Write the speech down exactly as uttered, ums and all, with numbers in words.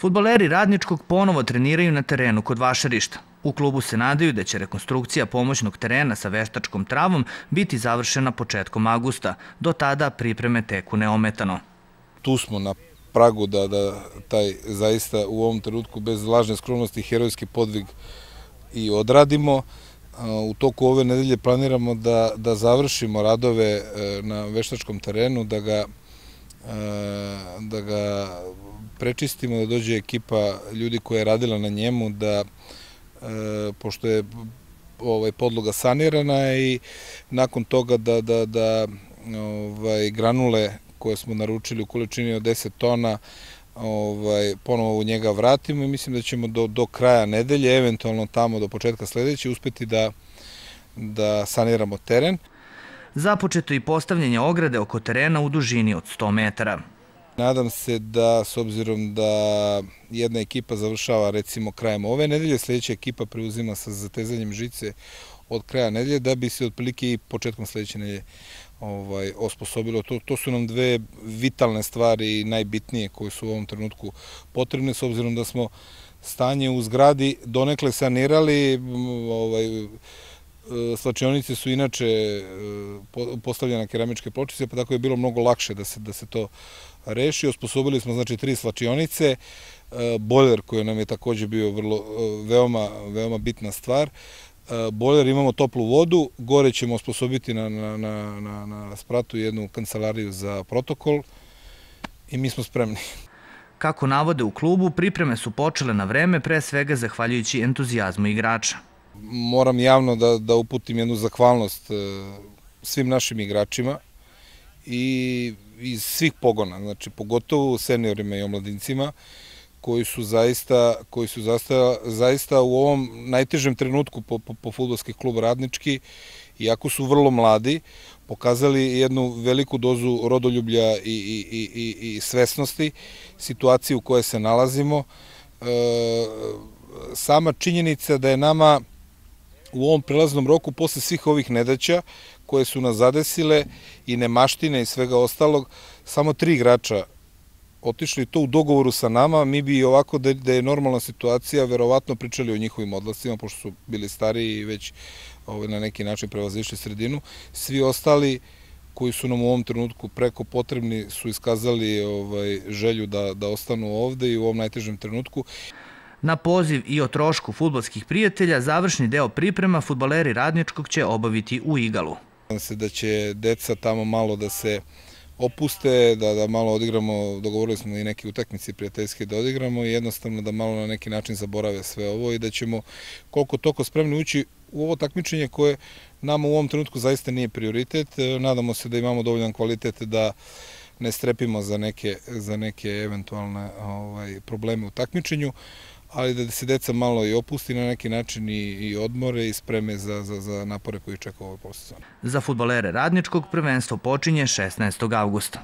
Fudbaleri Radničkog ponovo treniraju na terenu kod Vašarišta. U klubu se nadaju da će rekonstrukcija pomoćnog terena sa veštačkom travom biti završena početkom avgusta. Do tada pripreme teku neometano. Tu smo na pragu da, da taj zaista u ovom trenutku bez lažne skromnosti herojski podvig i odradimo. U toku ove nedelje planiramo da, da završimo radove na veštačkom terenu, da ga, da ga prečistimo, da dođe ekipa ljudi koja je radila na njemu, da pošto je ovaj, podloga sanirana i nakon toga da, da, da ovaj, granule koje smo naručili u količini od deset tona ovaj, ponovo u njega vratimo i mislim da ćemo do, do kraja nedelje, eventualno tamo do početka sledeće, uspeti da, da saniramo teren. Započeto i postavljanje ograde oko terena u dužini od sto metara. Nadam se da, s obzirom da jedna ekipa završava recimo krajem ove nedelje, sledeća ekipa preuzima sa zatezanjem žice od kraja nedelje, da bi se otprilike i početkom sledeće nedelje ovaj, osposobilo. To, to su nam dve vitalne stvari i najbitnije koje su u ovom trenutku potrebne, s obzirom da smo stanje u zgradi donekle sanirali. Ovaj, Slačionice su inače postavljene keramičke pločice, pa tako je bilo mnogo lakše da se, da se to reši. Osposobili smo znači tri slačionice, bojler koji nam je takođe bio vrlo, veoma, veoma bitna stvar. Bojler, imamo toplu vodu, gore ćemo osposobiti na, na, na, na, na spratu jednu kancelariju za protokol i mi smo spremni. Kako navode u klubu, pripreme su počele na vreme, pre svega zahvaljujući entuzijazmu igrača. Moram javno da, da uputim jednu zahvalnost svim našim igračima i iz svih pogona, znači pogotovo seniorima i omladincima koji su zaista, koji su zaista, zaista u ovom najtežem trenutku po, po, po fudbalski klub Radnički, iako su vrlo mladi, pokazali jednu veliku dozu rodoljublja i, i, i, i svesnosti situacije u kojoj se nalazimo. E, sama činjenica da je nama u ovom prelaznom roku, posle svih ovih nedaća koje su nas zadesile i nemaštine i svega ostalog, samo tri igrača otišli to u dogovoru sa nama. Mi bi ovako, da, da je normalna situacija, verovatno pričali o njihovim odlascima, pošto su bili stariji i već ovaj, na neki način prevazišli sredinu. Svi ostali koji su nam u ovom trenutku preko potrebni su iskazali ovaj, želju da, da ostanu ovde i u ovom najtežem trenutku. Na poziv i o trošku fudbalskih prijatelja, završni deo priprema fudbaleri Radničkog će obaviti u Igalu. Nadam se da će deca tamo malo da se opuste, da, da malo odigramo, dogovorili smo i neke utakmice prijateljske da odigramo i jednostavno da malo na neki način zaborave sve ovo i da ćemo koliko toliko spremni ući u ovo takmičenje koje nama u ovom trenutku zaista nije prioritet. Nadamo se da imamo dovoljan kvalitet da ne strepimo za neke, za neke eventualne ovaj, probleme u takmičenju, ali da se deca malo i opusti na neki način i, i odmore i spreme za, za, za napore koji čeka u ovoj posezoni. Za fudbalere Radničkog prvenstvo počinje šesnaestog avgusta.